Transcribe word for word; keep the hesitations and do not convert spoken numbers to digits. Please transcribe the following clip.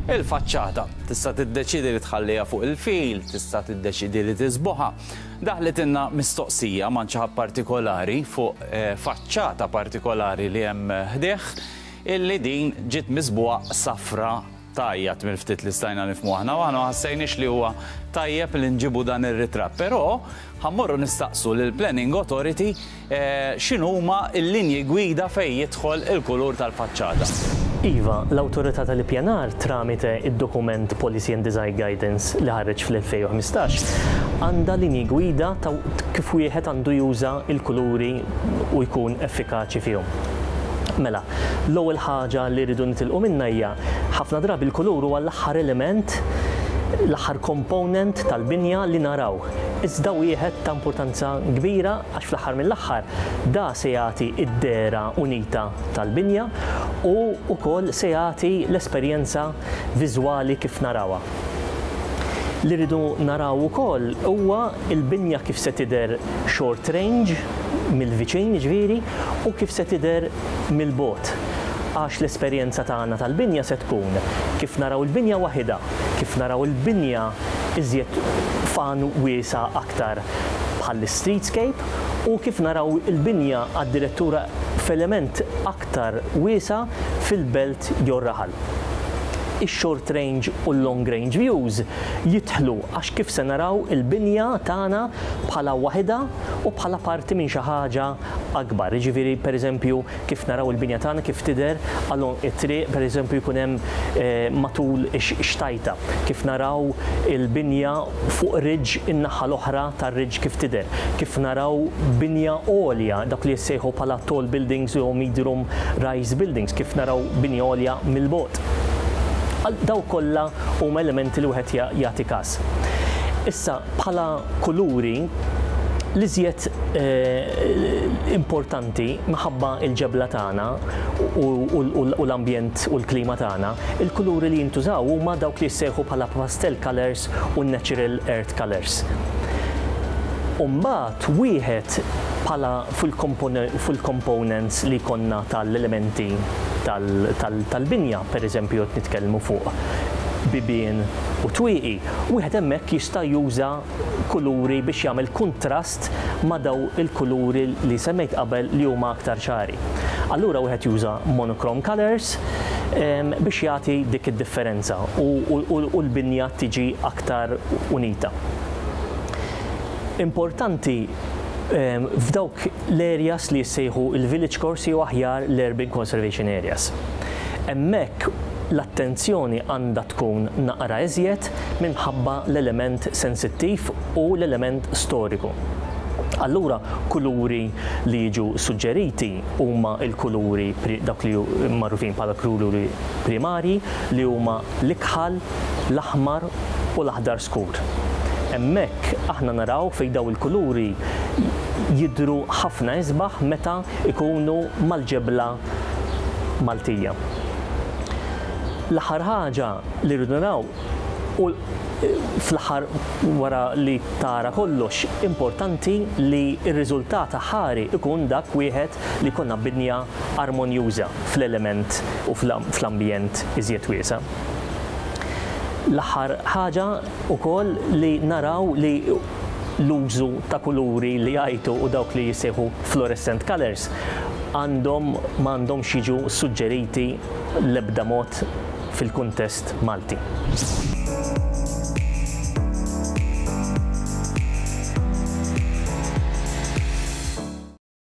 Il-faċċata tista' tiddeċidi li tħalliha fuq il-fil, tista' tiddeċidi li tiżbogħha. Daħlitilna mistoqsija minn xi ħadd partikolari fuq eh, faċċata partikolari li hemm ħdejh illi din ġiet miżbugħa safra tajjat mill-ftit li stajna nifhmu aħna u aħna ħassejniex li huwa tajjeb li nġibu dan ir-ritratt. Però ħa mmorru nistaqsu lill-Planning Authority eh, x'inhuma l-linji gwida fejn jidħol il-kulur tal-faċċata. Iva, l-Awtorità tal-Ippjanar, tramite id-dokument Policy and Design Guidance li ħareġ fl-elfejn u ħmistax, għandha linji gwida ta' kif wieħed għandu juża il-kuluri u jkun effikaċi fihom. Mela, l-ewwel ħaġa li rridu nitilqu minnha hija ħafna drabi l-kulur huwa l-aħħar element, l-aħħar component tal-binja li naraw. Iżda wieħed ta' importanza kbira, għax fl-aħħar mill-aħħar da se jagħti id-dehra unita tal-binja u wkoll se jagħti l-esperjenza viżwali kif narawha. Li rridu naraw ukoll huwa il-binja kif se tidher short range, mill-viċin ġifieri, u kif se tidher mill-bogħod. Għax l-esperjenza tagħna tal-binja se tkun kif naraw il-binja waħida, kif naraw il-binja iżjed fan wiesa aktar bħal streetscape u kif naraw il-binja għad-direttura f'element aktar wiesa fil-belt jew raħal. Ix-short range u l-long range views jidħlu għax kif se naraw il-binja tagħna bħala waħda u bħala parti minn xi ħaġa akbar. Jiġifieri, pereżempju, kif naraw il-binja tagħna kif tidher along it-triq, pereżempju jkun hemm eh, matul ix-xtajta, kif naraw il-binja fuq ridge, in-naħa l-oħra tar-ridge kif tidher, kif naraw binja għolja, dak li jissejħu bħala tall buildings u medium rise buildings, kif naraw binja għolja mill-bogħod. Daw kollha huma elementi li wieħed jagħti każ. Issa, bħala kuluri, l-iżjed eh, importanti, minħabba il-ġebla tagħna u l-ambjent u l-klima tagħna, il-kuluri li jintużaw huma dawk li jissejħu bħala pastel colors u natural earth colors. Umbagħad wieħed bħala fil-components li konna tal-elementi tal-binja, per eżempju, nitkellmu fuq bibien u twieqi, wieħed hemmhekk jista' juża kuluri biex jagħmel kontrast ma' daw il-kuluri li semmejt qabel li huma aktar ċari. Allura wieħed juża monochrome colors biex jagħti dik id-differenza u l-binja tiġi aktar unita. Importanti f'dawk l-areas li jissejħu il-village cores jew aħjar l-urban conservation areas. Hemmhekk l-attenzjoni għandha tkun naqra iżjed minħabba l-element sensittiv u l-element storiku. Allura, kuluri li jiġu suġġeriti huma il-kuluri dak li magħrufin bħala kuluri primari, li huma l-ikħal, l-aħmar u l-aħdar skur. Hemmhekk aħna naraw fejn daw il-kuluri jidru ħafna isbaħ meta ikunu mal-ġebla Maltija. L-aħħar ħaġa li rridu naraw u fl-aħħar, wara li tara kollox, importanti li r-riżultat aħħari ikun dak wieħed li konna binja armonjuża fl-element u fl-ambjent iżjed wiesa. L-aħħar ħaġa ukoll li naraw li l-użu ta' kuluri li jgħajtu u dawk li jissejħu fluorescent colors għandhom m'għandhomx jiġu suġġeriti l-ebda mod fil-kuntest Malti.